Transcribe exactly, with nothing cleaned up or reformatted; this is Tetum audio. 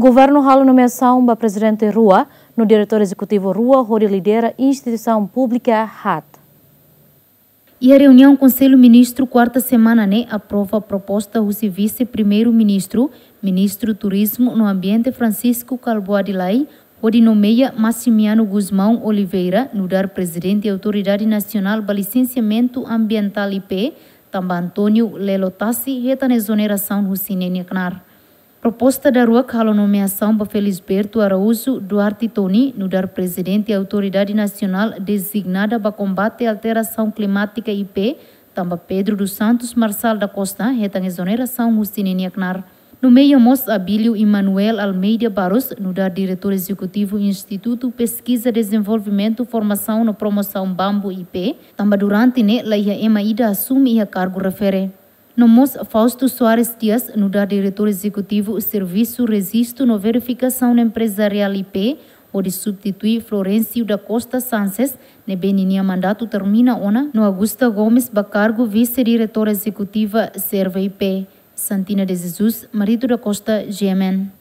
Governu halo nomeasaun ba prezidente rua no diretór ezekutivu rua hodi lidera instituisaun públika haat. Iha reuniaun Konsellu Ministru kuarta semana ne'e aprova proposta husi Vise-Primeiru-Ministru, Ministru Turizmu no Ambiente Francisco Kalbuadi Lay, hodi nomeia Maximiano Gusmão Oliveira nu'udar Prezidente Autoridade Nasionál ba Lisensiamentu Ambientál I P, tanba António Lelo Tassi hetan ezonerasaun husi ninia knaar. Proposta daruak halo nomeasaun ba Felisberto Araújo Duarte Toni nu'udar Prezidente Autoridade Nasionál Dezignada ba Kombate Alterasaun Klimátika I P, tanba Pedro dos Santos Marçal da Costa hetan ezonerasaun husi ninia knaar. Nomeia mós Abílio Emanuel Almeida Barros nu'udar Diretór Ezekutivu Institutu Peskiza, Dezenvolvimentu, Formasaun no Promosaun Bambu I P, tanba durante ne'e la iha ema ida asume iha kargu refere. No mós Fausto Soares Dias nu'udar Diretór Ezekutivu Servisu Rejistu no Verifikasaun Emprezariál I P, hodi substitui Florencio da Costa Sanches, ne'ebé ninia mandatu termina ona, no Augusta Gomes ba kargu Vise-Diretór Ezekutiva Serve I P. Santina de Jesus, Marito da Costa, G M N.